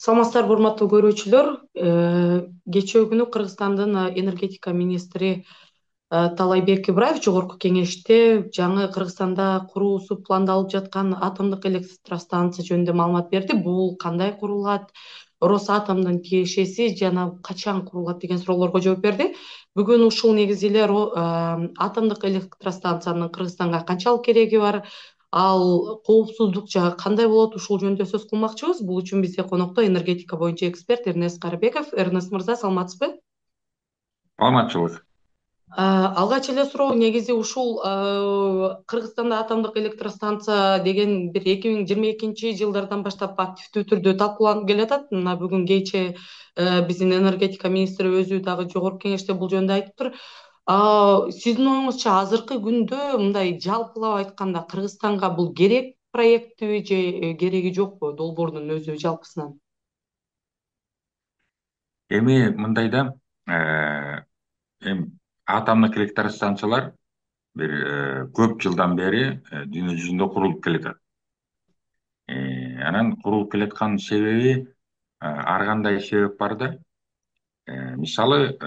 Саламатсыздарбы, урматтуу көрүүчүлөр. Кечээ күнү Кыргызстандын энергетика министри Таалайбек Ибраев жогорку кеңеште жаңы Кыргызстанда куруусу пландалып жаткан атомдук электростанция жөнүндө маалымат берди. Бул кандай курулат, Росатомдун тиешеси жана качан курулат деген суроолорго жооп берди. Бүгүн ушул негизи эле атомдук электростанциянын Кыргызстанга канчалык кереги бар, ал коопсуздук жагы кандай болот, ушул жөнүндө сөз кылмакчыбыз. Бул үчүн бизде конокто энергетика боюнча эксперт Эрнест Карыбеков. Эрнест мырза, саламатсызбы? Саламатчылык. Алгач эле суроо негизи ушул Кыргызстанда атомдук электростанция деген бир 2022 жылдардан баштап активдүү түрдө талкууланып келатат. Мына бүгүн кечээ биздин энергетика министри өзү дагы жогорку кеңеште бул жөнүндө айтыптыр. Сиздин оюңузча азыркы күндө мындай жалпылап айтканда Кыргызстанга бул керек проектиби же кереги жокпу, долбоордун өзү жалпысынан? Эми мындай да, эми атомдук электростанциялар бир көп жылдан бери дүйнө жүзүндө курулуп келатат. Анан курулуп келаткан себеби ар кандай себеп бар да. Мисалы,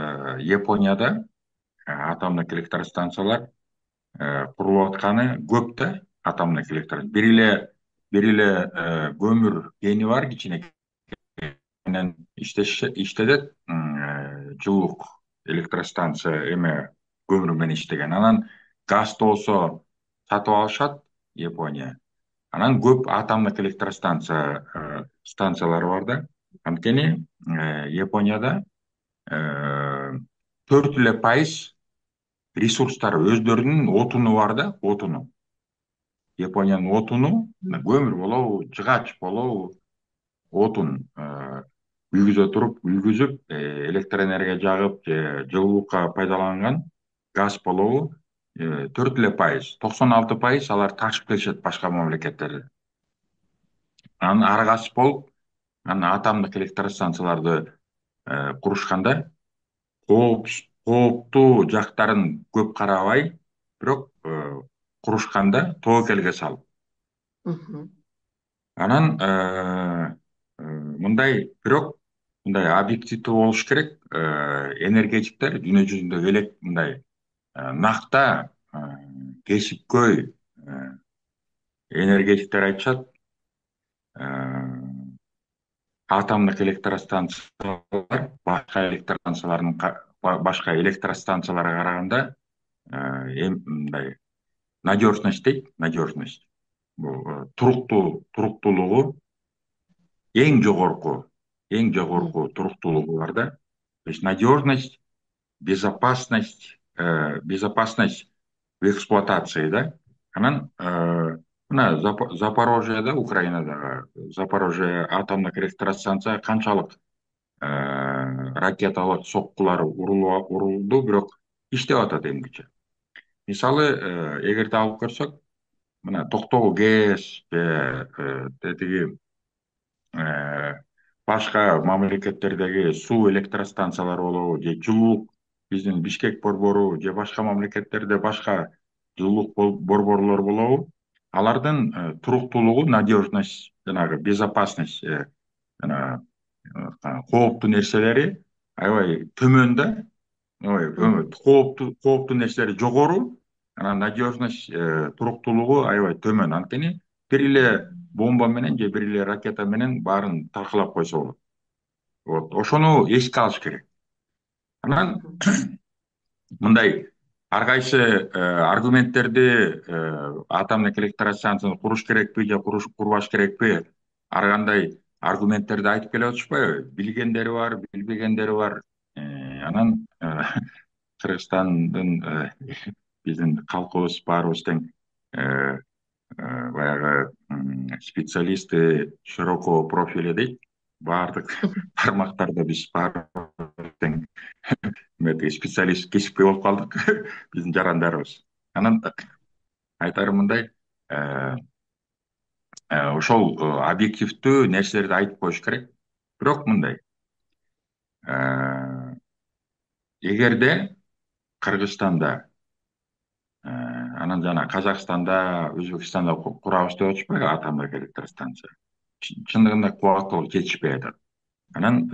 Японияда атомдук электростанциялар курулуп атканы көп да. Атомдук бир эле көмүр кени бар, кичинекей менен иштетет. Жылуулук электростанция эме көмүр менен иштеген. Анан газды болсо сатып алышат Япония. Анан көп атомдук станциялары бар да. Анткени Японияда 4% ресурстары, өздөрүнүн отуну бар да, отуну. Япониянын отуну көмүр болобу, жыгач болобу, отун үйгүзүп, электр энергия жагып же жылуулукка пайдаланган газ болобу, 4% 96% алар ташып келишет башка мамлекеттерден. Анан аргасы болуп, анан атомдук электростанцияларды курушканда кооптуу жактарын көп карабай, бирок курушканда тобокелге салып. Мгм. Анан бирок мындай объективдүү болуш керек. Энергетиктер дүйнө жүзүндө элек мындай накта, кесипкөй энергетиктер айтышат, атомдук электростанциялар башка электростанцияларга караганда мындай надежность дейт, надежность. Бул туруктуулугу эң жогорку туруктуулугу бар да. То есть надежность, безопасность в эксплуатации да. Анан мына Запорожьеда, Украинадагы Запорожье атомдук электростанция канчалык ракеталык соккулар урулду, бирок иштеп атат эмгиче. Мисалы, эгерде алып көрсөк, мына Токтогул ГЭС же тетиги башка мамлекеттердеги суу электростанциялары болобу, же жылуулук биздин Бишкек борбору же башка мамлекеттерде башка жылуулук борборлор болобу, алардын туруктуулугу, надежность, жанагы безопасность, жана кооптуу нерселери аябай төмөн да. Кооптуу нерселери жогору, анан надежность, туруктуулугу аябай төмөн. Анткени бир эле бомба менен же бир эле ракета менен баарын талкалап койсо болот. Вот, ошону эске алыш керек. Анан мындай ар кайсы аргументтерди, атомдук электростанцияны куруш керекпи же курбаш керекпи, ар кандай аргументтерди айтып келе атышпайбы? Билгендери бар, билбегендери бар. Анан Кыргызстандын биздин калкыбыз баарыбыз тең баягы специалисты широкого профиля дейт. Баардык тармактарда биз баарыбыз тең специалист, кесипкөй болуп калдык биздин жарандарыбыз. Анан айтарым мындай, ошол объективдүү нерселерди айтып коюш керек. Бирок мындай, эгерде Кыргызстанда, анан жана Казакстанда, Өзбекстанда курабыз деп атышпайбы атомдук электростанция. Чындыгында кубаттуулук жетишпей атат. Анан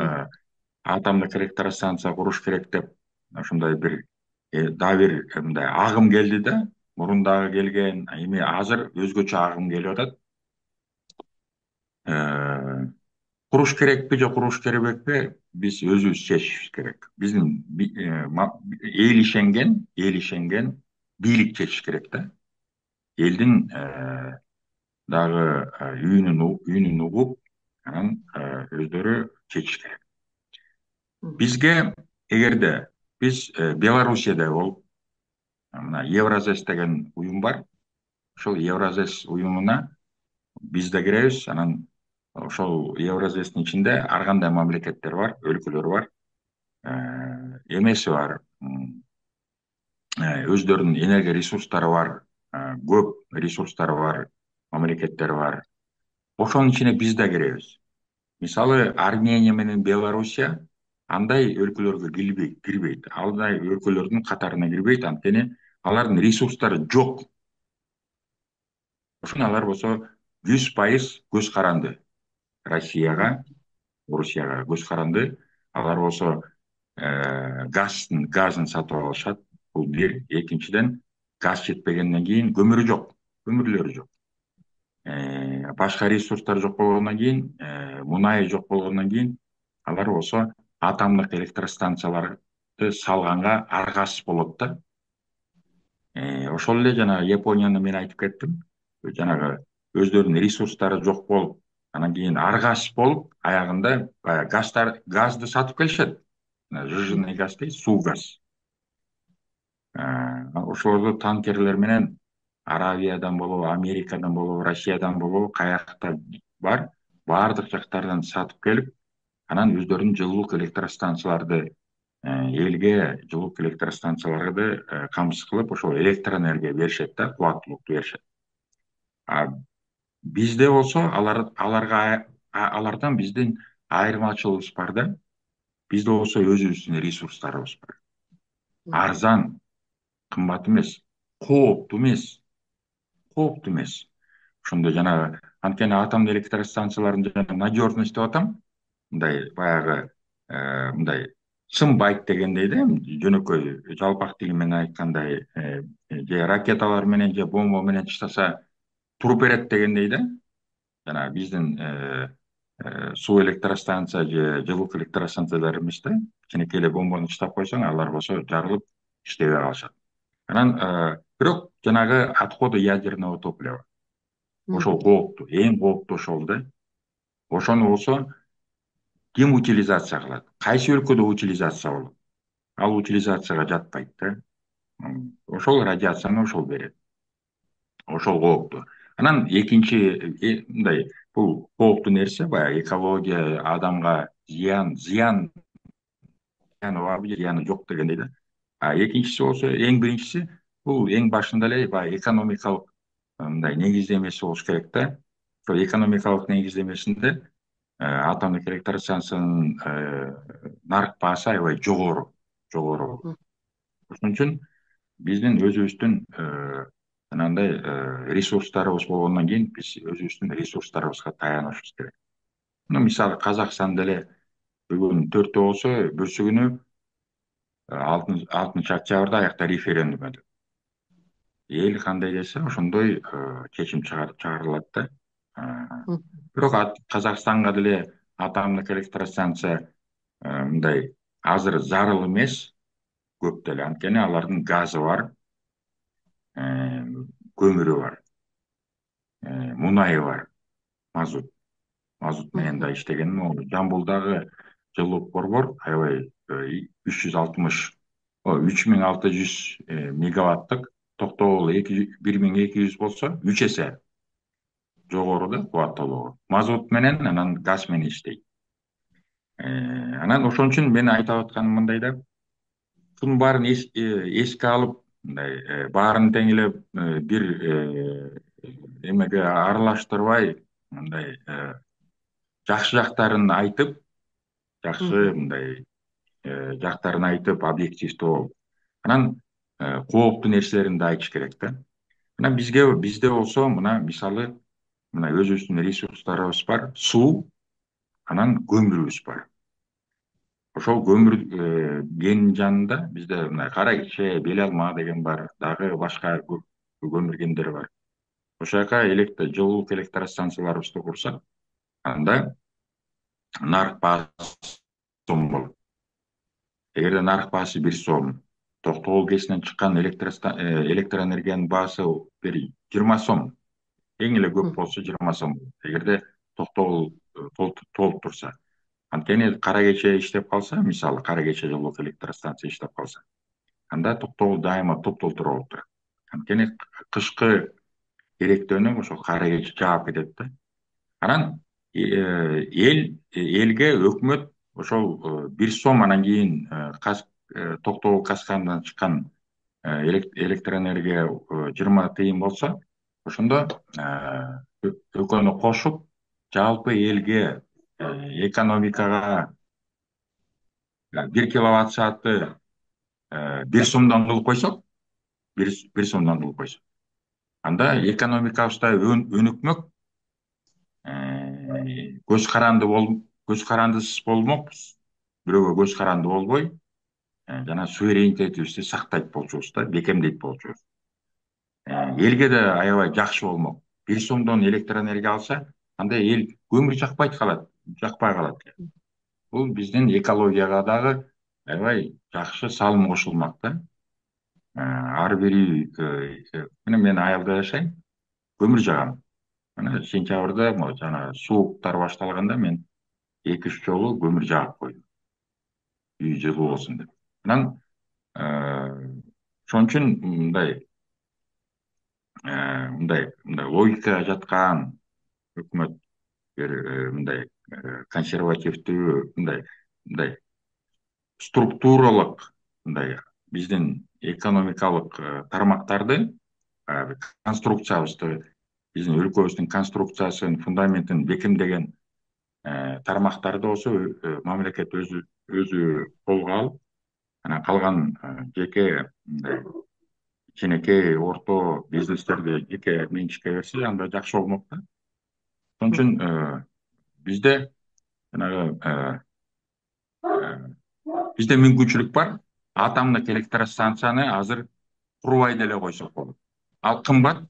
атомдук электростанция куруш керек деп ушундай бир дагы бир мындай агым келди да. Мурун дагы келген, эми азыр өзгөчө агым келип атат. Э, Куруш керекпи же куруш керекпи, биз өзүбүз чечишибиз керек. Биздин эл ишенген бийлик чечиш керек да. Элдин дагы үнүн угуп, анан өздөрү чечиш керек. Бизге эгерде биз Белоруссияда болуп, мына Евразес деген уюм бар. Ошол Евразес уюмуна биз да киребиз. Анан ошол Евразестин ичинде ар кандай мамлекеттер бар, өлкөлөр бар. Эмеси бар, өздөрүнүн энергия ресурстары бар, көп ресурстары бар мамлекеттер бар. Ошонун ичине биз да киребиз. Мисалы, Армения менен Белоруссия андай өлкөлөргө кирбейт. Андай өлкөлөрдүн катарына кирбейт, анткени алардын ресурстары жок. Ошон алар болсо 100% көз каранды. Россияга, Орусияга көз каранды. Алар болсо газын сатып алышат. Бул бир. Экинчиден, газ жетпегенден кийин көмүрү жок, көмүрлөрү жок. Башка ресурстар жок болгондон кийин, мунай жок болгондон кийин, алар болсо атомдук электростанцияларды салганга аргасыз болот да. Ошол эле жанагы Японияны мен айтып кеттим. Жанагы өздөрүнүн ресурстары жок болуп, анан кийин аргасыз болуп, аягында баягы газды сатып келишет. Жыжыный газ дейт, суу газ. Ошолорду танкерлер менен Аравиядан болобу, Америкадан болобу, Россиядан болобу, каякта бар, баардык жактардан сатып келип, анан өздөрүнүн жылуулук электростанцияларды элге жылуулук электростанцияларды камсыз кылып, ошол электроэнергия беришет да, кубаттуулукту беришет. Бизде болсо алардан биздин айырмачылыгыбыз бар да. Бизде болсо өзүбүздүн ресурстарыбыз бар. Арзан, кымбат эмес, кооптуу эмес, кооптуу эмес. Ошондо жанагы, анткени атомдук электростанциялардын жана надежность деп атам. Мындай баягы мындай чын байт дегендей да, жөнөкөй жалпак тили менен айткандай, же ракеталар менен же бомба менен таштаса туруп берет дегендей да. Жана биздин суу электростанция же жылуулук электростанциялар эмес да. Кичинекей эле бомбаны таштап койсоң, алар болсо жарылып иштебей калышат. Анан бирок жанагы отходы ядерного топлива, ошол кооптуу, эң кооптуу ошол да. Ошону болсо ким утилизация кылат? Кайсы өлкөдө утилизация болот? Ал утилизацияга жатпайт да. Ошол радиацияны ошол берет. Ошол кооптуу. Анан экинчи мындай, бул кооптуу нерсе, баягы экология, адамга зыяны барбы же зыяны жок дегендей да. Экинчиси болсо, эң биринчиси, бул эң башында эле баягы экономикалык мындай негиздемеси болуш керек да. Ошол экономикалык негиздемесинде атомдук электростанциянын нарык баасы аябай жогору. Ошон үчүн биздин өзүбүздүн анандай ресурстарыбыз болгондон кийин, биз өзүбүздүн ресурстарыбызга таянышыбыз керек. Мисалы, Казакстанда эле бүгүн 4-тө болсо, бүрсү күнү 6-октябрда аякта референдум өтөт. Эл кандай десе, ошондой чечим чыгарылат да. Бирок Казакстанга деле атомдук электростанция мындай азыр зарыл эмес, көп деле, анткени алардын газы бар, көмүрү бар, мунайы бар, мазут менен да иштеген. Жамбылдагы жылуулук борбор аябай 3600 мегаваттык, Токтогул 1200 болсо 3 эсе жогору да кубаттуулугу. Мазут менен, анан газ менен иштейт. Анан ошон үчүн мен айтып атканым мындай да, шунун баарын эске алып, мындай баарын тең эле бир эмеге аралаштырбай, мындай жакшы жактарын айтып, жакшы мындай жактарын айтып, объективдүү болуп, анан кооптуу нерселерин да айтыш керек да. Анан бизде болсо, мына мисалы, мына өзүбүздүн ресурстарыбыз бар. Суу, анан көмүрүбүз бар. Ошол көмүр кенинин жанында бизде мына Кара Кече, Бел Алма деген бар, дагы башка көмүр кендери бар. Ошол жака жылуулук электростанцияларыбызды курсак, анда нарык баасы сом болот. Эгерде нарык баасы 1 сом, Токтогул КЭСинен чыккан электроэнергиянын баасы бир 20 сом, эң эле көп болсо 20 сом болот. Эгерде Токтогул толуп турса. Анткени Кара Кече иштеп калса, мисалы Кара Кече жылуулук электростанция иштеп калса, анда Токтогул дайыма топ-толтура болуп турат. Анткени кышкы керектөөнү ошол Кара Кече жаап кетет да. Анан элге өкмөт ошол 1 сом, анан кийин Токтогул Каскандан чыккан электроэнергия 20 тыйын болсо, ошондо экөөнү кошуп жалпы элге экономикага 1 киловатт саатты 1 сомдон кылып койсок, 1 сомдон кылып койсок, анда экономикабызда өнүкмөк, көз карандысыз болмокпуз. Бирөөгө көз каранды болбой, жана суверенитетибизди сактайт болчубуз да, бекемдейт болчубуз. Элге да аябай жакшы болмок. 1 сомдон электроэнергия алса, анда эл көмүр жакпай калат. Бул биздин экологияга дагы аябай жакшы салым кошулмак да. Ар бир үй, мен айылда жашайм, көмүр жагам. Мына сентябрда жана сууктар башталганда мен 2-3 жолу көмүр жагып койдум. Үй жылуу болсун деп. Анан ошон үчүн мындай логика жаткан өкмөт, мындай консервативдүү, мындай структуралык, биздин экономикалык тармактарды, конструкциябызды, биздин өлкөбүздүн конструкциясын, фундаментин бекемдеген тармактарды болсо мамлекет өзү колго алып, анан калган жеке кичинекей орто бизнестерди жеке менчикке берсе, анда жакшы болмок да. Ошон үчүн бизде бизде мүмкүнчүлүк бар. Атомдук электростанцияны азыр курбай деле койсок болот. Ал кымбат,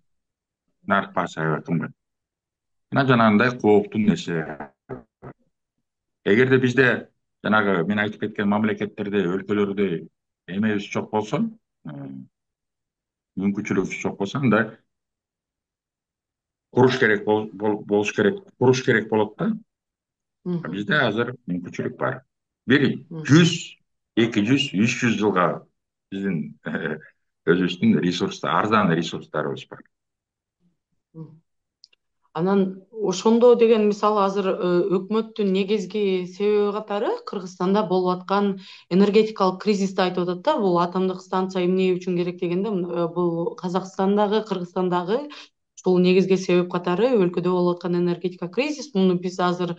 нарык баасы аябай кымбат. Анан жанагындай кооптуу нерсе. Эгерде бизде жанагы мен айтып кеткен мамлекеттерде, өлкөлөрдө эмебиз жок болсо, мүмкүнчүлүгүбүз жок болсо, анда куруш керек болот да. Бизде азыр мүмкүнчүлүк бар. 100, 200, 300 жылга биздин өзүбүздүн арзан ресурстарыбыз бар. Анан ошондо деген мисалы азыр өкмөттүн негизги себеби катары Кыргызстанда болуп аткан энергетикалык кризисти айтып атат да. Бул атомдук станция эмне үчүн керек дегенде, бул Казакстандагы, Кыргызстандагы ушул негизги себеп катары өлкөдө болуп аткан энергетика кризис. Муну биз азыр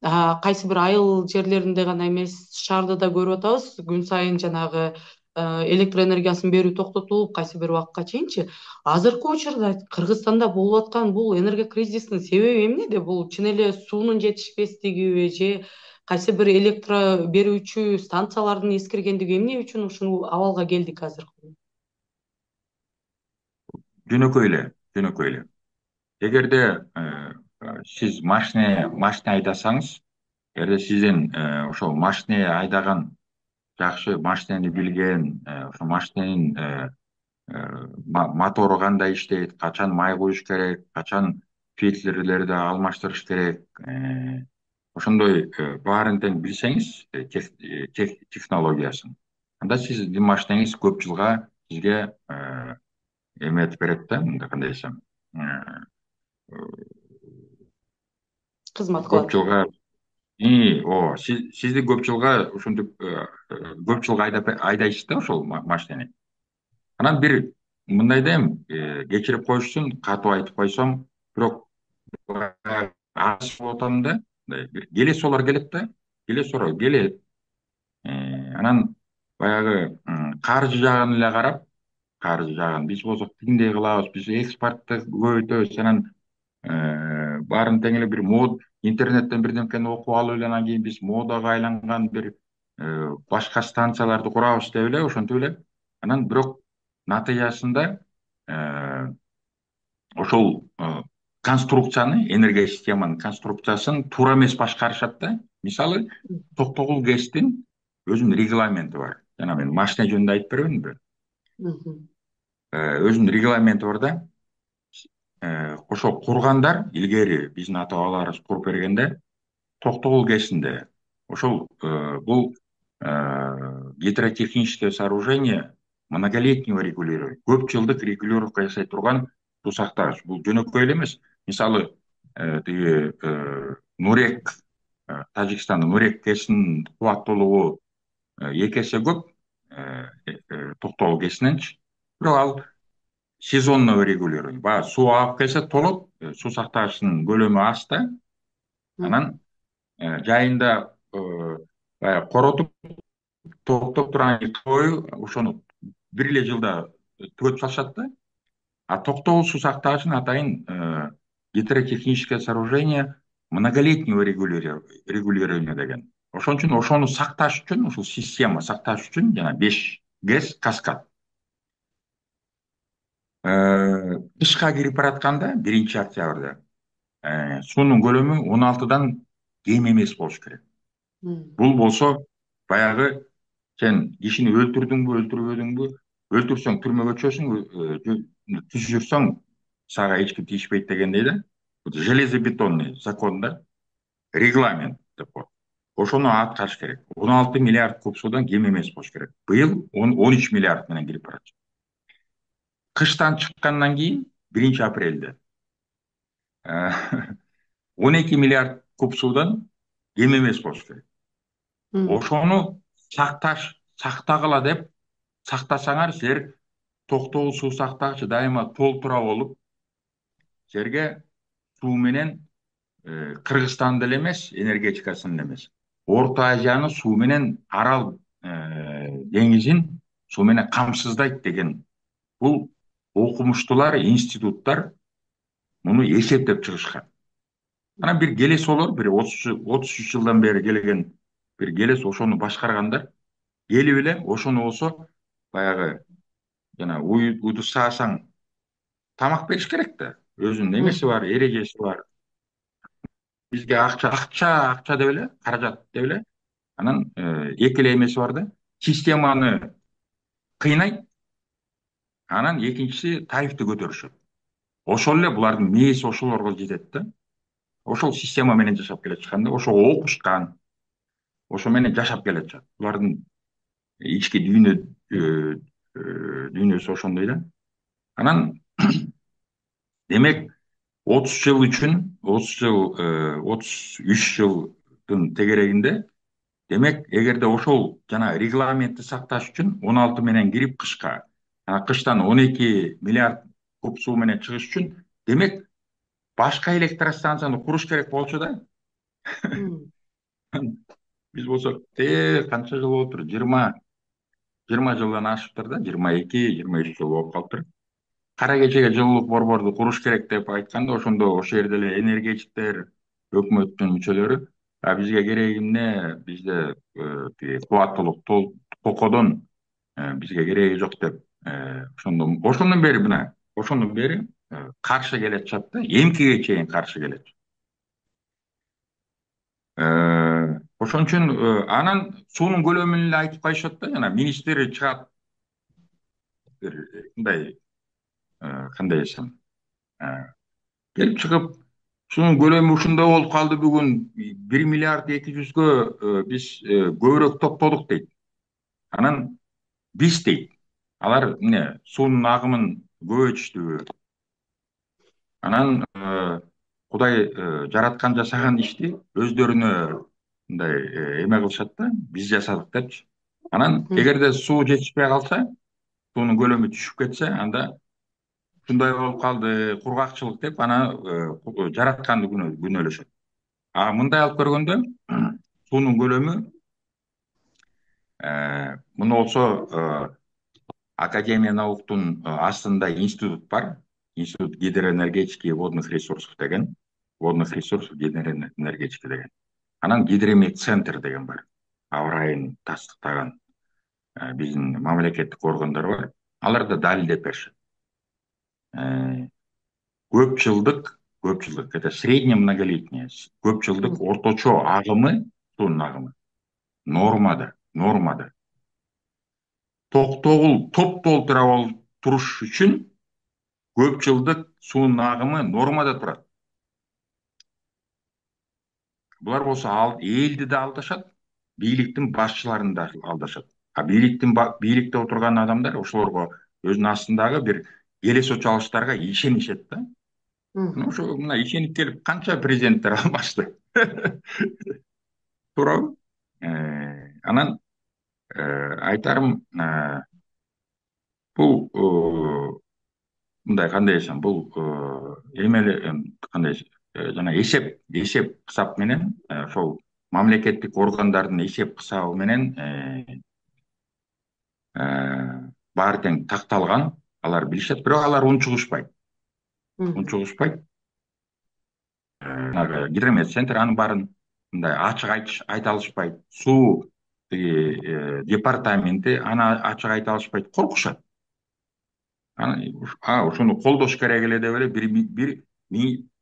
кайсы бир айыл жерлеринде гана эмес, шаарда да көрүп атабыз. Күн сайын жанагы электроэнергиясын берүү токтотулуп, кайсы бир убакытка чейинчи. Азыркы учурда Кыргызстанда болуп аткан бул энергия кризисинин себеби эмнеде? Бул чын эле суунун жетишпестигиби же кайсы бир электро берүүчү станциялардын эскиргендиги, эмне үчүн ушул абалга келдик азыр? Жөнөкөй эле. Эгерде сиз машина айдасаңыз, эгерде сизден ошол машина айдаган, жакшы машинени билген, ошо машиненин мотору кандай иштейт, качан май куюш керек, качан фильтрлерди алмаштырыш керек, ошондой баарын тең билсеңиз, технологиясын, анда сиздин машинеңиз көп жылга сизге эметип берет да, кандай десем, Кызмат көп кылат. жылга сизди көп жылга ошентип көп жылга айдайсыз да ошол машинени. Анан бир мындай да эми, кечирип коюшсун, катуу айтып койсом, бирок аз болуп атам да, келесолор келет да, келет. Анан баягы каржы жагын эле карап, биз болсок тигиндей кылабыз, биз экспортты көбөйтөбүз, анан баарын тең эле бир интернеттен бирдемкени окуп алып эле анан кийин биз модага айланган бир башка станцияларды курабыз деп эле ошентип эле анан бирок натыйжасында э, ошол конструкцияны, энергия системанын конструкциясын туура эмес башкарышат да. Мисалы, Токтогул ГЭСтин өзүнүн регламенти бар. Жана мен машина жөнүндө айтып бербедимби? Мгм. Өзүнүн регламенти бар да. Ошо кургандар илгери биздин ата бабаларыбыз куруп бергенде Токтогул ГЭСинде ошол бул гидротехническое сооружение многолетнего регулирования, көп жылдык регулировка жасай турган суу сактагыч. Бул жөнөкөй эле эмес. Мисалы, тиги Нурек, Тажикстандын Нурек ГЭСинин кубаттуулугу эки эсе көп Токтогул ГЭСиненчи. Бирок ал сезонного регулирования. Баягы суу агып келсе толот, суу сактагычтын көлөмү аз да. Анан жайында баягы коротуп токтоп турган бою ошону бир эле жылда түгөтүп салышат да. А Токтогул суу сактагычын атайын гидротехническое сооружение многолетнего регулирования деген. Ошон үчүн ошону сакташ үчүн, ушул система сакташ үчүн жана 5 ГЭС каскад. Кышка кирип баратканда 1 октябрда суунун көлөмү 16дан кем эмес болуш керек. Бул болсо баягы сен кишини өлтүрдүңбү, өлтүрбөдүңбү, өлтүрсөң түрмөгө түшөсүң, түшүрсөң сага эч ким тийишпейт дегендей да. Железобетонный закон да, регламент деп коет. Ошону аткарыш керек. 16 миллиард куб суудан кем эмес болуш керек. Быйыл 13 миллиард менен кирип барат. Кыштан чыккандан кийин 1 апрелде 12 миллиард куб суудан кем эмес болуш керек. Ошону сактагыла деп сактасаңар, силер Токтогул суу сактагычы дайыма толтура болуп, силерге суу менен Кыргызстанды эле эмес, энергетикасын эле эмес, Орто Азияны суу менен, Арал деңизин суу менен камсыздайт деген бул окумуштуулар, институттар муну эсептеп чыгышкан. Анан бир келес болор, бир 33 жылдан бери келген бир келес, ошону башкаргандар келип эле ошону болсо баягы жана уйду саасаң тамак бериш керек да. Өзүнүн эмеси бар, эрежеси бар. Бизге акча деп эле, каражат деп эле. Анан эки эле эмеси бар да. Системаны кыйнайт, анан экинчиси тарифти көтөрүшөт. Ошол эле булардын мээси ошолорго жетет да. Ошол система менен жашап келе жаткан да, ошого окушкан, ошо менен жашап келе жатышат. Булардын ички дүйнөсү ошондой да. Анан демек 30 жыл үчүн, 33 жылдын тегерегинде, демек эгерде ошол жана регламентти сакташ үчүн 16 менен кирип кышка, кыштан 12 миллиард куб суу менен чыгыш үчүн, демек башка электростанцияны куруш керек болчу да. Биз болсок канча жыл болуптур? 20 жылдан ашыптыр да, 22-23 жыл болуп калыптыр. Кара кечеге жылуулук борборду куруш керек деп айтканда, ошондо ошол жерде эле энергетиктер, өкмөттүн мүчөлөрү, бизге кереги эмне, бизде тиги кубаттуулук токодон бизге кереги жок деп, ошондон бери каршы келатышат да, эмкиге чейин каршы келет. Ошон үчүн анан суунун көлөмүн эле айтып коюшат да, жана министр чыгат, мындай кандай десем, келип чыгып, суунун көлөмү ушундай болуп калды, бүгүн 1 миллиард 200гө биз көбүрөөк токтодук дейт. Анан биз дейт, алар эмне суунун агымын көбөйтүштүбү? Анан Кудай жараткан жасаган ишти өздөрүнө мындай эме кылышат да, биз жасадык депчи. Анан эгерде суу жетишпей калса, суунун көлөмү түшүп кетсе, анда ушундай болуп калды, кургакчылык деп ана жаратканды күнөөлөшөт. Мындай алып көргөндө суунун көлөмү муну болсо Академия науктун астында институт бар. Институт гидроэнергетики и водных ресурсов деген. водных ресурсов гидроэнергетика деген. Анан гидромедцентр деген бар. Аба ырайын тастыктаган биздин мамлекеттик органдар бар. Алар да далилдеп беришет. Көп жылдык, это средне многолетняя, көп жылдык орточо агымы, суунун агымы нормада. Топ-толтура туруш үчүн көп жылдык суунун агымы нормада турат. Булар болсо элди да алдашат, бийликтин башчыларын да алдашат. А бийликте отурган адамдар ошолорго өзүнүн астындагы бир элес чалыштарга ишенишет да. Ошо мына ишенип келип канча президенттер алмашты. Туурабы? Анан айтарым, бул мындай кандай десем, бул эме эле кандай жана эсеп кысап менен ошол мамлекеттик органдардын эсеп кысабы менен баары тең такталган, алар билишет, бирок алар унчугушпайт. Гидромедцентр анын баарын мындай ачык айта алышпайт. Суу департаменти аны ачык айта алышпайт, коркушат. Ошону колдош керек эле деп эле бир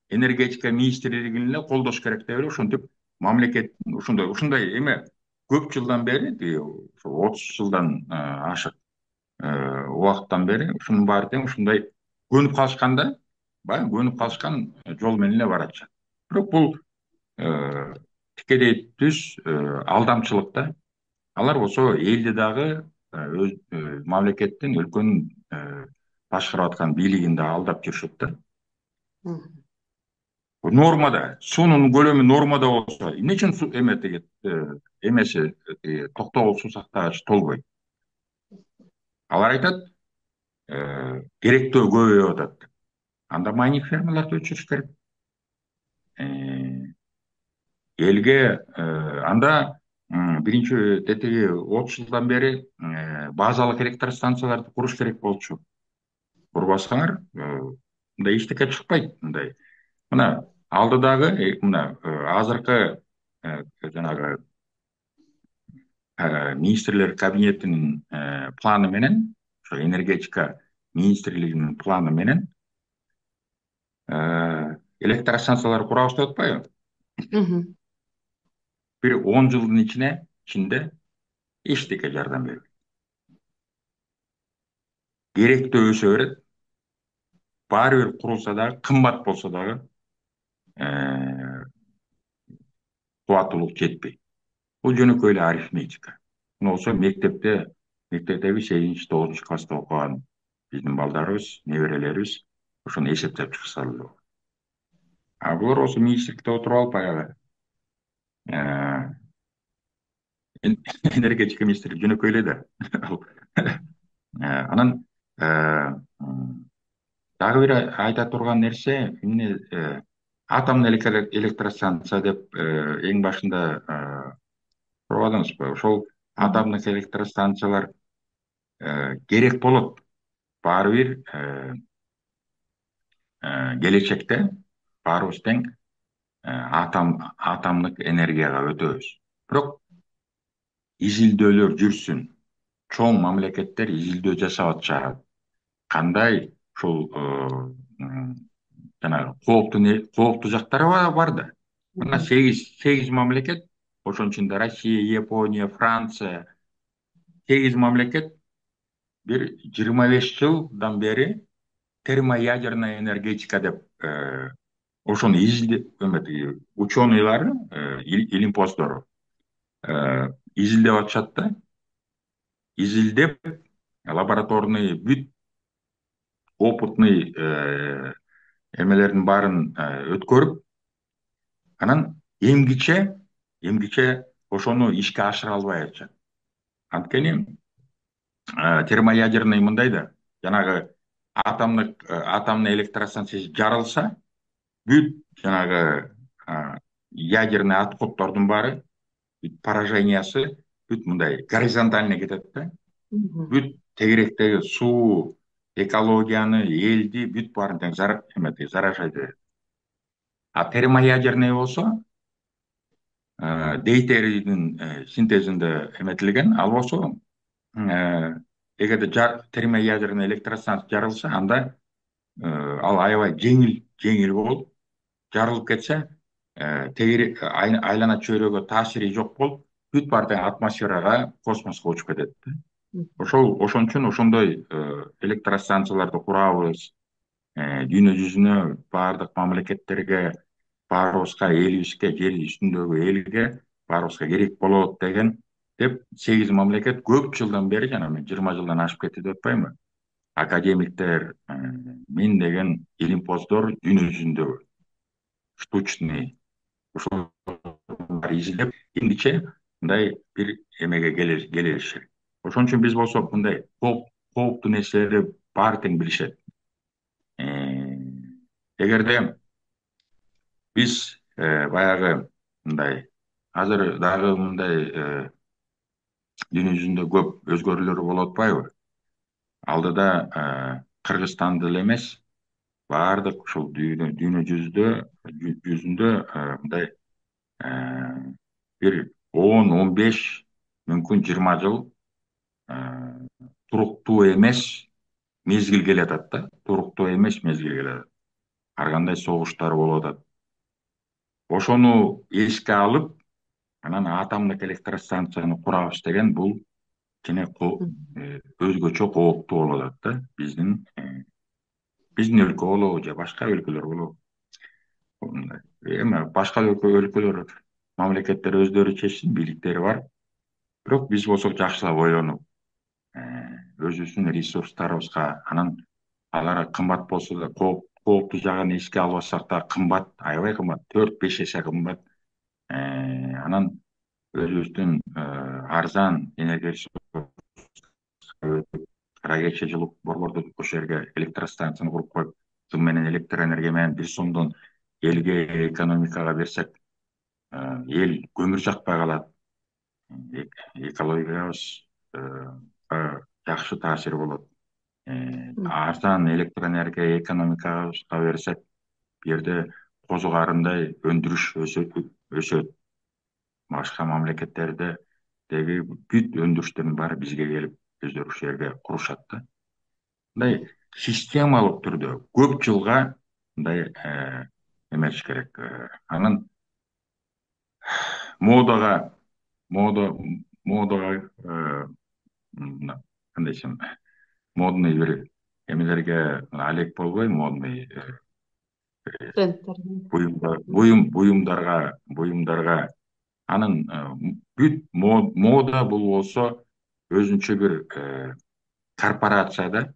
энергетика министрлигин эле колдош керек деп эле ошентип мамлекет ушундай эме көп жылдан бери, 30 жылдан ашык убакыттан бери ушунун баары тең ушундай көнүп калышкан да, баягы көнүп калышкан жол менен эле баратышат. Бирок бул тикелей түз алдамчылык да. Алар болсо элди дагы өз мамлекеттин, өлкөнүн башкарып аткан бийлигин да алдап жүрүшөт да. Нормада, суунун көлөмү нормада болсо, эмне үчүн эмеси токтогул суу сактагыч толбойт? Алар айтат, керектөө көбөйүп атат. Анда майнинг фермаларды өчүрүш керек. Элге анда биринчи тетиги 30 жылдан бери базалык электростанцияларды куруш керек болчу. Курбасаңар, мындай эчтеке чыкпайт. Мындай мына алдыдагы мына азыркы жанагы министрлер кабинетинин планы менен, ошо энергетика министрлигинин планы менен электростанциялар курабыз деп атпайбы? Бир 10 жылдын ичинде эчтеке жардам бербейт. Керектөө өсө берет. Баары бир курулса дагы, кымбат болсо дагы кубаттуулук жетпейт. Бул жөнөкөй эле арифметика. Мына болсо мектептеби 8-9 класста окуган биздин балдарыбыз, неберелерибиз ошону эсептеп чыкса эле болот. А булар болсо министрликте отуруп алып баягы энергетика министри жөнөкөй эле да. Анан дагы бир айта турган нерсе, эмне атомный электростанция деп эң башында сурабадыңызбы? Ошол атомдук электростанциялар керек болот. Баары бир келечекте баарыбыз тең атомдук энергияга өтөбүз. Бирок изилдөөлөр жүрсүн. Чоң мамлекеттер изилдөө жасап атышат. Кандай ушул жанагы кооптуу жактары бар да. Мына 8 мамлекет, ошонун ичинде Россия, Япония, Франция, 8 мамлекет бир 25 жылдан бери термоядерная энергетика деп ошону ученыйлар, илимпоздор изилдеп атышат да. Изилдеп, лабораторный бүт опытный эмелердин баарын өткөрүп, анан эмгиче ошону ишке ашыра албай атышат. Анткени термоядерный мындай да, жанагы атомный электростанция жарылса, бүт жанагы ядерный отходдордун баары, бүт поражениясы бүт мындай горизонтально кетет да. Бүт тегеректеги суу, экологияны, элди бүт баарын тең заражать этет. А термоядерный болсо дейтерийдин синтезинде эметилген. Ал болсо эгерде термоядерный электростанция жарылса, анда ал аябай жеңил болуп жарылып кетсе, айлана чөйрөгө таасири жок болуп, бүт баары тең атмосферага, космоско учуп кетет да. Ошон үчүн ошондой электростанцияларды курабыз. Дүйнө жүзүнө баардык мамлекеттерге, баарыбызга, элибизге, жер үстүндөгү элге баарыбызга керек болот деп 8 мамлекет көп жылдан бери, жана мен 20 жылдан ашып кетти деп атпаймынбы, академиктер, миңдеген илимпоздор дүйнө жүзүндө штучный ушул изилдеп эмгиче мындай бир эмеге келишет. Ошон үчүн биз болсок мындай кооптуу нерселерди баары тең билишет. Эгерде биз баягы мындай азыр дагы мындай дүйнө жүзүндө көп өзгөрүүлөр болуп атпайбы? Алдыда Кыргызстанды эле эмес, баардык ушул дүйнө жүзүндө мындай бир 10-15, мүмкүн 20 жыл туруктуу эмес мезгил келатат да. Туруктуу эмес мезгил келатат. Ар кандай согуштар болуп атат. Ошону эске алып, анан атомдук электростанцияны курабыз деген бул кичине өзгөчө кооптуу болуп атат да. Биздин өлкө болобу же башка өлкөлөр болобу. Эми башка өлкөлөр, мамлекеттер өздөрү чечсин, бийликтери бар. Бирок биз болсок жакшылап ойлонуп, өзүбүздүн ресурстарыбызга, анан алар кымбат болсо да, кооптуу жагын эске албасак да, кымбат, аябай кымбат, 4-5 эсе кымбат. Анан өзүбүздүн арзан энергия кара кече жылып борбордук ошол жерге электростанцияны куруп коюп, дым менен электр энергия менен 1 сомдон элге, экономикага берсек, эл көмүр жакпай калат. Экологиябызга жакшы таасири болот. Арзан электр энергия экономикабызга берсек, бул жерде козу карындай өндүрүш өсөт. Башка мамлекеттердеги бүт өндүрүштөрдүн баары бизге келип, өздөрү ушул жерге курушат да. Мындай системалык түрдө көп жылга мындай эметиш керек. Анан модага кандай десем, модный бир эмелерге алек болбой, модный буюмдарга анын бүт мода бул болсо өзүнчө бир корпорация да,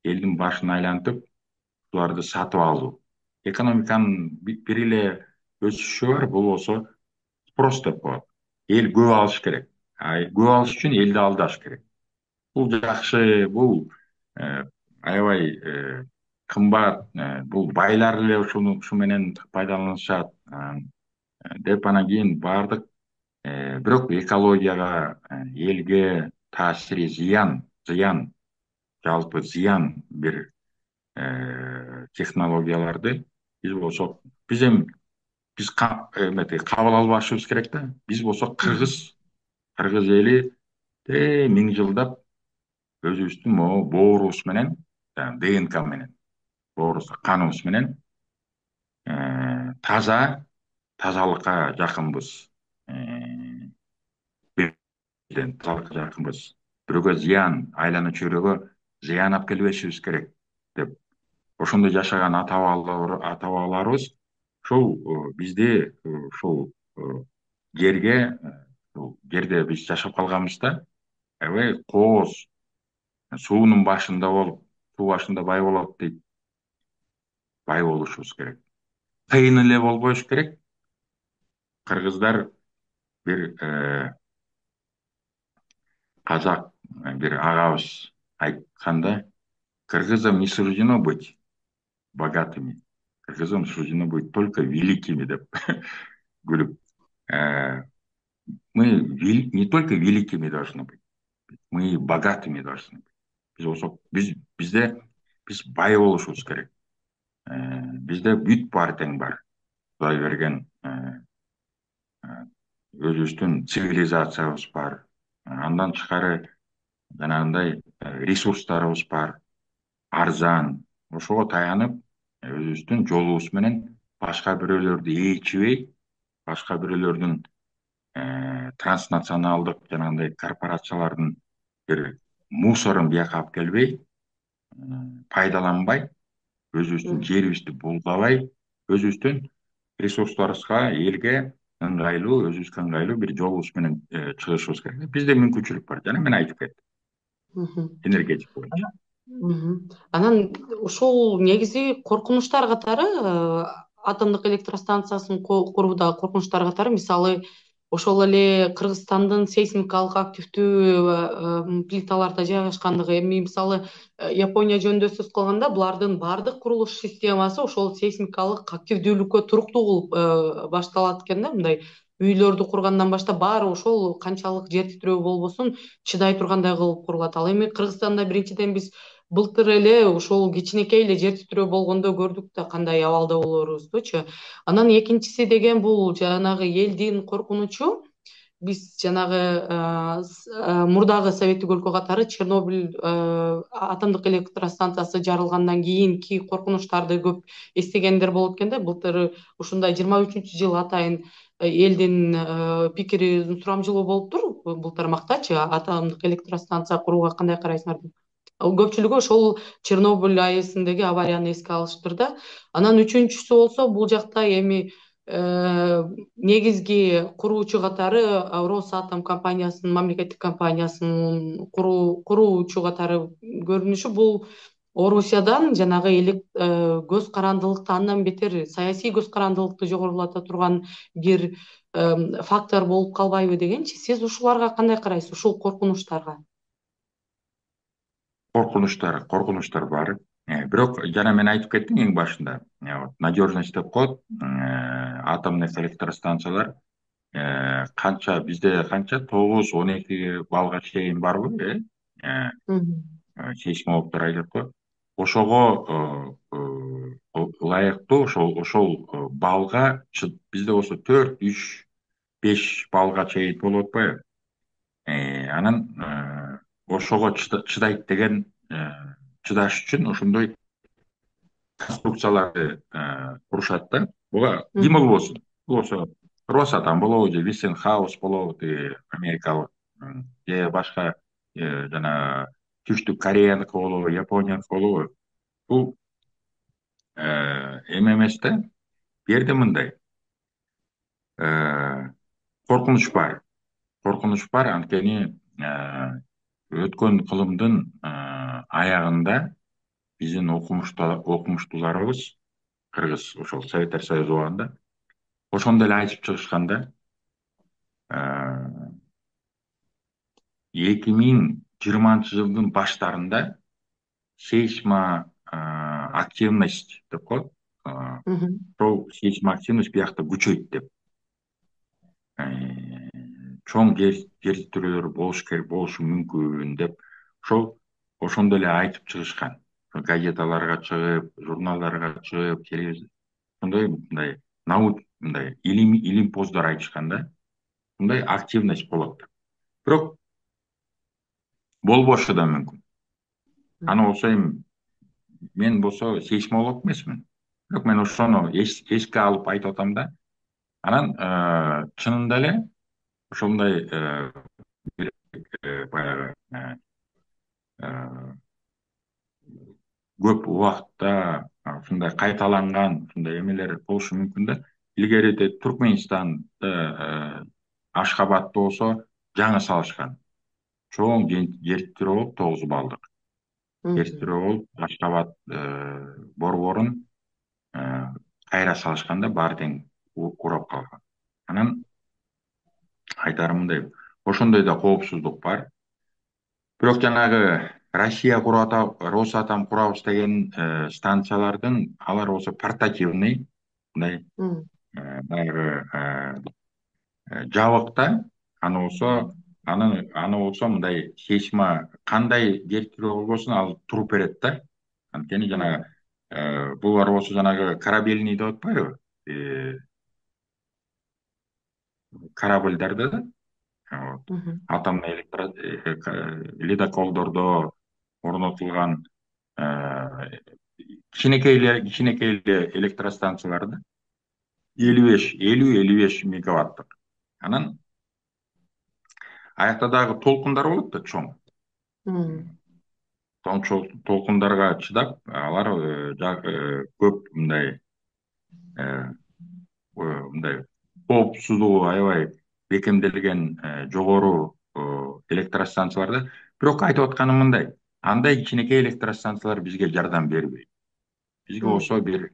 элдин башын айлантып, буларды сатып алуу. Экономиканын бир эле өсүшү бар, бул болсо спрос деп коет. Эл көп алыш керек. Көп алыш үчүн элди алдаш керек. Бул жакшы, бул аябай кымбат, бул байлар эле ушу менен пайдаланышат деп, анан кийин баардык, бирок экологияга, элге таасири зыян, жалпы зыян бир технологияларды биз болсок, биз кабыл албашыбыз керек да. Биз болсок кыргыз эли миң жылдап өзүбүздүн могу боорубуз менен, ДНК менен, боорубузда каныбыз менен тазалыкка жакынбыз. Тазалыкка жакынбыз. Бирөөгө зыян, айлана чөйрөгө зыян алып келбешибиз керек деп, ошондой жашаган ата бабаларыбыз ушул бизди ушул жерде биз жашап калганбыз да, аябай кооз, суунун башында болуп, суу башында бай болот дейт. Бай болушубуз керек. Кыйын эле болбош керек. Кыргыздар бир казак бир агабыз айтканда, кыргызам не суждено быть богатыми, кыргызам суждено быть только великими деп күлүп, мы не только великими должны быть, мы богатыми должны быть. Биз болсок, биз бай болушубуз керек. Бизде бүт баары тең бар. Кудай берген өзүбүздүн цивилизациябыз бар. Андан тышкары жанагындай ресурстарыбыз бар, арзан. Ошого таянып, өзүбүздүн жолубуз менен башка бирөөлөрдү ээрчибей, башка бирөөлөрдүн транснационалдык жанагындай корпорациялардын бир мусорун бияка алып келбей, пайдаланбай, өзүбүздүн жерибизди булгабай, өзүбүздүн ресурсларыбызга, элге ыңгайлуу, өзүбүзгө ыңгайлуу бир жолубуз менен чыгышыбыз керек. Бизде мүмкүнчүлүк бар. Жана мен айтып кеттим, Мгм. энергетика боюнча. Анан ушул негизи коркунучтар катары атомдук электростанциясын курууда коркунучтар катары мисалы ошол эле Кыргызстандын сейсмикалык активдүү плиталарда жайгашкандыгы. Эми мисалы Япония жөнүндө сөз кылганда булардын баардык курулуш системасы ошол сейсмикалык активдүүлүккө туруктуу кылып башталат экен да. Мындай үйлөрдү кургандан баштап баары ошол канчалык жер титирөө болбосун чыдай тургандай кылып курулат. Ал эми Кыргызстанда биринчиден биз былтыр эле ушул кичинекей эле жер титирөө болгондо көрдүк да кандай абалда болоорубуздучу. Анан экинчиси деген бул жанагы элдин коркунучу. Биз жанагы мурдагы советтик өлкө катары Чернобыль атомдук электростанциясы жарылгандан кийинки коркунучтарды көп эстегендер болот экен да. Былтыр ушундай 23-жыл атайын элдин пикири сурамжылоо болуптур бул тармактачы, атомдук электростанция курууга кандай карайсыңар деп. Көпчүлүгү ошол Чернобыль АЭСиндеги аварияны эске алыштыр да. Анан үчүнчүсү болсо бул жакта эми негизги куруучу катары Росатом компаниясынын, мамлекеттик компаниясынын куруучу катары көрүнүшү бул Орусиядан жанагы көз карандылыкты андан бетер саясий көз карандылыкты жогорулата турган бир фактор болуп калбайбы дегенчи. Сиз ушуларга кандай карайсыз, ушул коркунучтарга? Коркунучтар бар. Бирок жана мен айтып кеттим эң башында. Надежность деп коет. Атомдук электростанциялар канча бизде канча 9-12 баллга чейин барбы, сейсмологдор айтат го. Ошого ылайыктуу ошол баллга бизде болсо 4, 3, 5 баллга чейин болуп атпайбы? Анан ошого чыдайт деген, чыдаш үчүн ошондой конструкцияларды курушат да. Буга ким болбосун. Бул болсо Росатом болобу, же Westinghouse болобу, америкалык, же башка жана Түштүк Кореяныкы болобу, Японияныкы болобу. Бул эме эмес да. Бу жерде мындай коркунуч бар. Анткени өткөн кылымдын аягында биздин окумуштууларыбыз кыргыз ошол Советтер Союзу убагында ошондо эле айтып чыгышкан да, 2020-жылдын баштарында активность деп коет. Ошол активность биякта күчөйт деп. Чоң жер титирөөлөр болушу мүмкүн деп ошондо эле айтып чыгышкан. Газеталарга чыгып, журналдарга чыгып, ошондой мындай мындай илимпоздор айтышкан да. Мындай активность болот. Бирок болбошу да мүмкүн. Аны болсо эми мен болсо сейсмолог эмесмин. Бирок мен ошону эске алып айтып атам да. Анан чынында эле ошондой баягы көп убакытта ушундай кайталанган ушундай эмелер болушу мүмкүн да. Илгери Туркменистанда, Ашхабадда болсо жаңы салышкан. Чоң жер титирөө болуп 9 баллдык. Жер титирөө болуп Ашхабад борборун кайра салышканда баары тең курап калган. Анан айтарым мындай, ошондой да коопсуздук бар. Бирок жанагы Россия Росатом курабыз деген станциялардын алар болсо портативный, мындай баягы жабык да. Аны болсо мындай кандай жер титирөө болбосун ал туруп берет да. Анткени жанагы булар болсо жанагы корабельный деп атпайбы? корабльдарды, вот, Мгм. атомный ледоколдордо орнотулган кичинекей эле электростанцияларды 50-50 мегаваттык. Анан аякта дагы толкундар болот да, чоң. Мгм. Толкундарга чыдап, алар көп мындай коопсуздугу аябай бекемделген жогору электростанцияларда. Бирок айтып атканым мындай: андай кичинекей электростанциялар бизге жардам бербейт. Бизге болсо Мгм. бир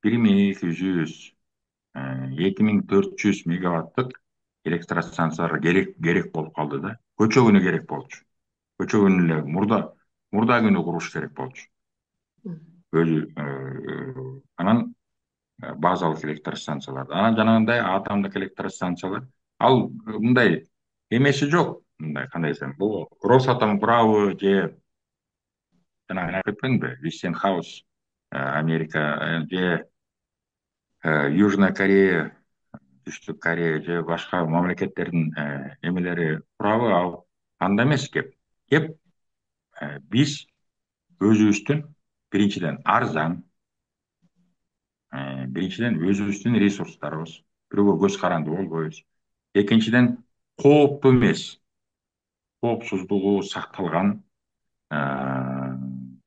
1200, 2400 мегаваттык электростанциялар керек болуп калды да. Көчө күнү керек болчу. Көчө күнү эле мурда күнү куруш керек болчу. Мгм. Анан базалык электростанциялар, анан жанагындай атомдук электростанциялар, ал мындай эмеси жок. Мындай кандай десем, бул Росатом курабы же жанагы айтып кетпедимби, Вестинхаус, Америка, же Южная Корея, Түштүк Корея же башка мамлекеттердин эмелери курабы, ал анда эмес кеп. Биз өзүбүздүн биринчиден арзан, өзүбүздүн ресурстарыбыз, бирөөгө көз каранды болбойбуз. Экинчиден, кооптуу эмес, коопсуздугу сакталган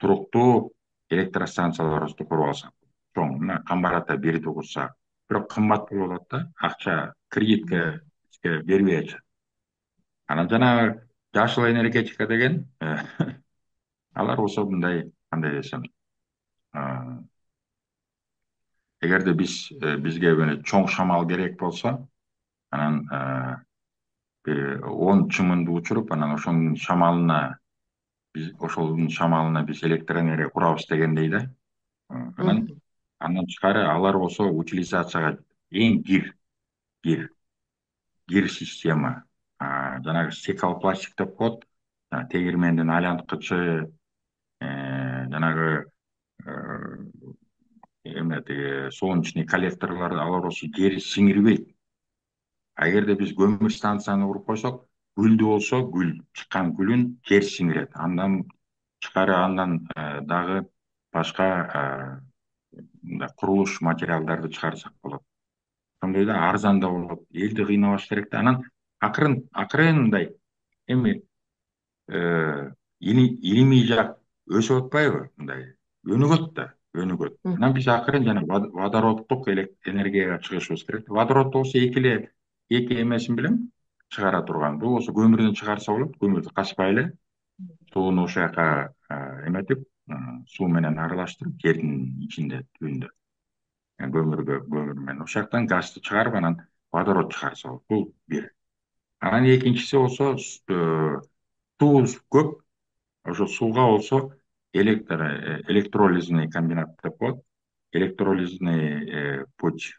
туруктуу электростанцияларыбызды куруп алсак, чоң, мына Камбар ата бирди курсак, бирок кымбат болуп атат да, акча, кредитке бизге бербей атышат. Анан жанагы жашыл энергетика деген, алар болсо мындай, кандай десем, эгерде бизге чоң шамал керек болсо, анан бир 10 чымынды учуруп, анан ошонун шамалына биз электроэнергия курабыз дегендей да. Анан Мгм. андан тышкары алар болсо утилизацияга эң кир система. Жанагы стеклопластик деп коет, тегирмендин айланткычы, жанагы тиги солнечный коллекторлор, алар болсо жери сиңирбейт. Эгерде биз көмүр станцияны куруп койсок, гүлдүү болсо, чыккан гүлүн жер сиңирет. Андан тышкары, андан дагы башка мындай курулуш материалдарды чыгарсак болот. Ошондой да арзан да болот. Элди кыйнабаш керек да. Анан акырын мындай эми илимий жак өсүп атпайбы? Мындай өнүгөт да, өнүгөт. Анан биз акырын жана водороддук энергияга чыгышыбыз керек. Водород болсо эки эмесин билем чыгара турган. Бул болсо көмүрдөн чыгарса болот. Көмүрдү качпай эле сууну ошол жака эметип, суу менен аралаштырып, жердин ичинде, түбүндө көмүр менен ошол жактан газды чыгарып, анан водород чыгарса болот. Бул бир. Анан экинчиси болсо, суубуз көп. Ошо сууга болсо электролизный комбинат деп коет. Электролизный путь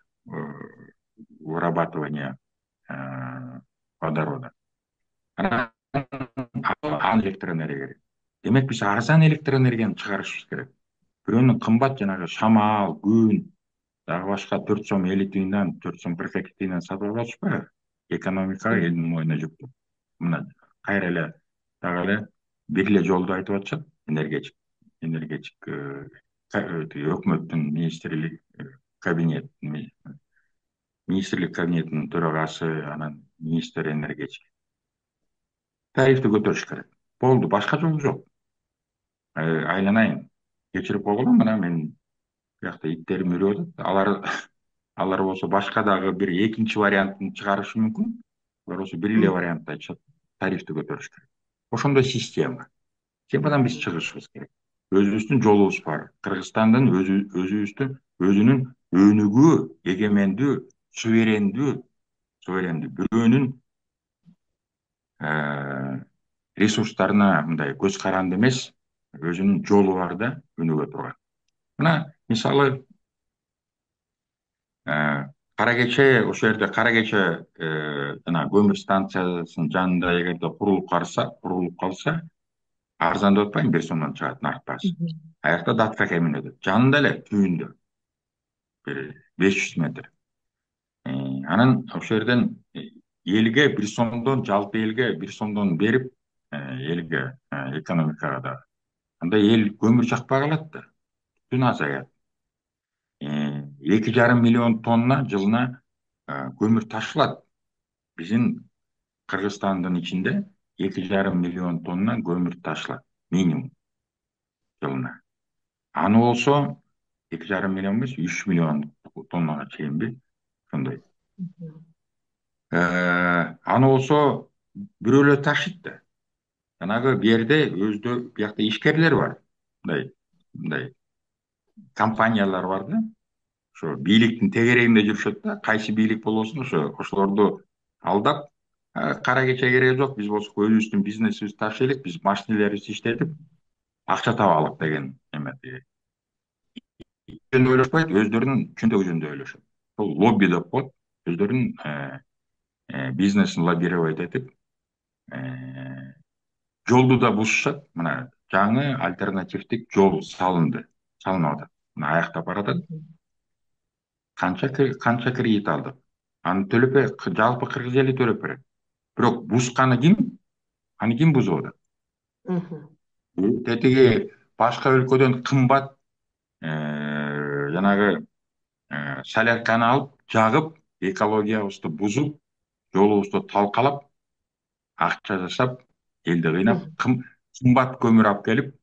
вырабатывания водорода. Анан электроэнергия керек. Демек биз арзан электроэнергияны чыгарышыбыз керек. Бирөөнүн кымбат жанагы шамал, күн, дагы башка 4 сом 50 тыйындан, 4 сом 42 тыйындан сатып алып атышпайбы? Экономикага, элдин мойнуна жүктөп. Мына кайра эле дагы эле бир эле жолду айтып атышат. Энергетик өкмөттүн министрлик кабинетинин төрагасы, анан министр энергетик тарифти көтөрүш керек. Болду, башка жол жок. Айланайын, кечирип койгула, мына мен биякта иттерим үрүп атат. Алар болсо башка дагы бир экинчи вариантын чыгарышы мүмкүн. Алар болсо бир эле вариантты айтышат: тарифти көтөрүш керек. Ошондой система. Системадан биз чыгышыбыз керек. Өзүбүздүн жолубуз бар. Кыргызстандын өзүнүн өнүгүү, эгемендүү, суверендүү бирөөнүн ресурстарына мындай көз каранды эмес, өзүнүн жолу бар да, өнүгө турган. Мына мисалы, ошол жерде Кара Кече жана көмүр станциясынын жанында эгерде курулуп калса, арзан деп атпайм, 1 сомдон чыгат нарк баасы. Мгм. Аякта датка кемин өтөт. Жанында эле, түбүндө, бир 500 метр. Анан ошол жерден элге 1 сомдон, жалпы элге 1 сомдон берип, элге, экономикага да, анда эл көмүр жакпай калат да, түтүн азаят. 2,5 миллион тонна жылына көмүр ташылат. Биздин Кыргызстандын ичинде 2,5 миллион тонна көмүр ташылат минимум жылына. Аны болсо 2,5 миллион эмес, 3 миллион тоннага чейинби, ошондой. Аны болсо бирөөлөр ташыйт да. Жанагы жерде биякта ишкерлер бар. Мындай компаниялар бар да. Ошо бийликтин тегерегинде жүрүшөт да. Кайсы бийлик болбосун, ошолорду алдап, кара кече кереги жок, биз болсок өзүбүздүн бизнесибизди ташыйлык, биз машинелерибизди иштетип акча табалык деген эме. Жөнүндө ойлошпойт, өздөрүнүн чүндөгү жөнүндө ойлошот. Бул лобби деп коет. Өздөрүнүн бизнесин лоббировать этип, жолду да бузушат. Мына жаңы альтернативдик жол салынып атат. Мына аяктап баратат. Канча кредит алдык. Аны төлөп, жалпы кыргыз эли төлөп берет. Бирок бузганы ким? Аны ким бузуп атат? Тетиги башка өлкөдөн кымбат жанагы солярканы алып, жагып, экологиябызды бузуп, жолубузду талкалап, акча жасап, элди кыйнап, кымбат көмүр алып келип,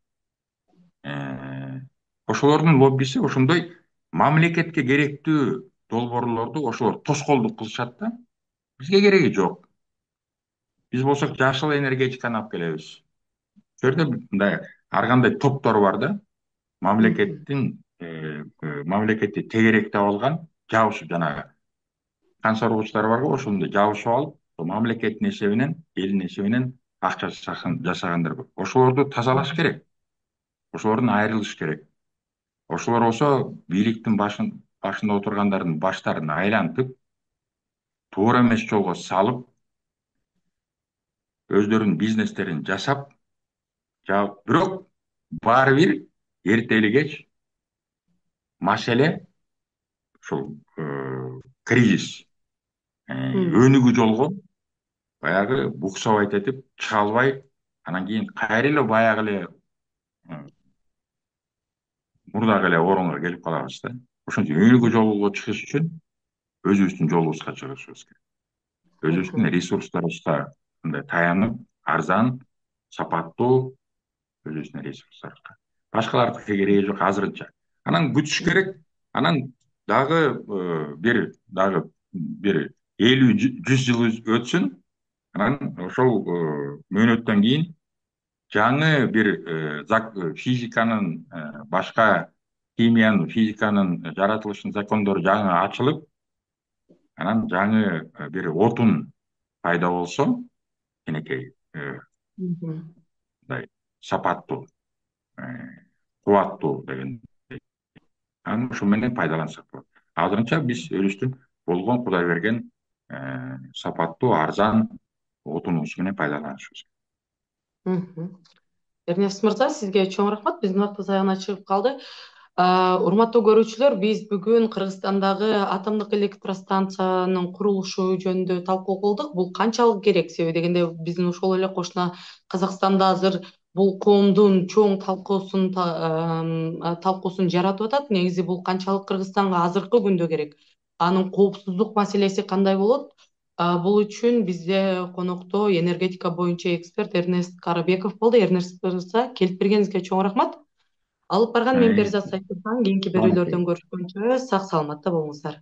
ошолордун лоббиси ошондой мамлекетке керектүү долбоорлорду ошолор тоскоолдук кылышат да. Бизге кереги жок. Биз болсок жашыл энергетиканы алып келебиз. Ошол жерде мындай ар кандай топтор бар да. Мамлекетти тегеректеп алган, жабышып, жанагы канча ургучтар бар го, ошондой жабышып алып, мамлекеттин эсебинен, элдин эсебинен акча жасагандар көп. Ошолорду тазалаш керек. Ошолордун айрылыш керек. Ошолор болсо бийликтин башында отургандардын баштарын айлантып, туура эмес жолго салып, өздөрүнүн бизнестерин жасап, бирок баары бир эрте эле кеч маселе ушул кризис өнүгүү жолго баягы буксабайт этип чыга албай, анан кийин кайра эле баягы эле мурдагы эле орунга келип калабыз да. Ошон үчүн өнүгүү жолго чыгыш үчүн өзүбүздүн жолубузга чыгышыбыз керек. Өзүбүздүн ресурстарыбызга мындай таянып, арзан, сапаттуу өзүбүздүн ресурстарыбызга. Башкалардыкы кереги жок азырынча. Анан күтүш керек. Анан дагы бир 50-100 жыл өтсүн. Анан ошол мөөнөттөн кийин жаңы бир физиканын, башка химиянын, физиканын жаратылышынын закондору жаңы ачылып, анан жаңы бир отун пайда болсо, кенекей мындай сапаттуу, кубаттуу деген, анан ошо менен пайдалансак болот. Азырынча биз өзүбүздүн болгон Кудай берген сапаттуу, арзан отунубуз менен пайдаланышыбыз керек. Эрнест мырза, сизге чоң рахмат. Биздин убактыбыз аягына чыгып калды. Урматтуу көрүүчүлөр, биз бүгүн Кыргызстандагы атомдук электростанциянын курулушу жөнүндө талкуу кылдык. Бул канчалык керек? Себеби дегенде биздин ошол эле кошуна Казакстанда азыр бул коомдун чоң талкуусун жаратып атат. Негизи бул канчалык Кыргызстанга азыркы күндө керек? Анын коопсуздук маселеси кандай болот? Бул үчүн бизде конокто энергетика боюнча эксперт Эрнест Карыбеков болду. Эрнест мырза, келип бергениңизге чоң рахмат. Алып барган мен Берзат Сайфурхан. Кийинки берүүлөрдөн көрүшкөнчө сак саламатта болуңуздар.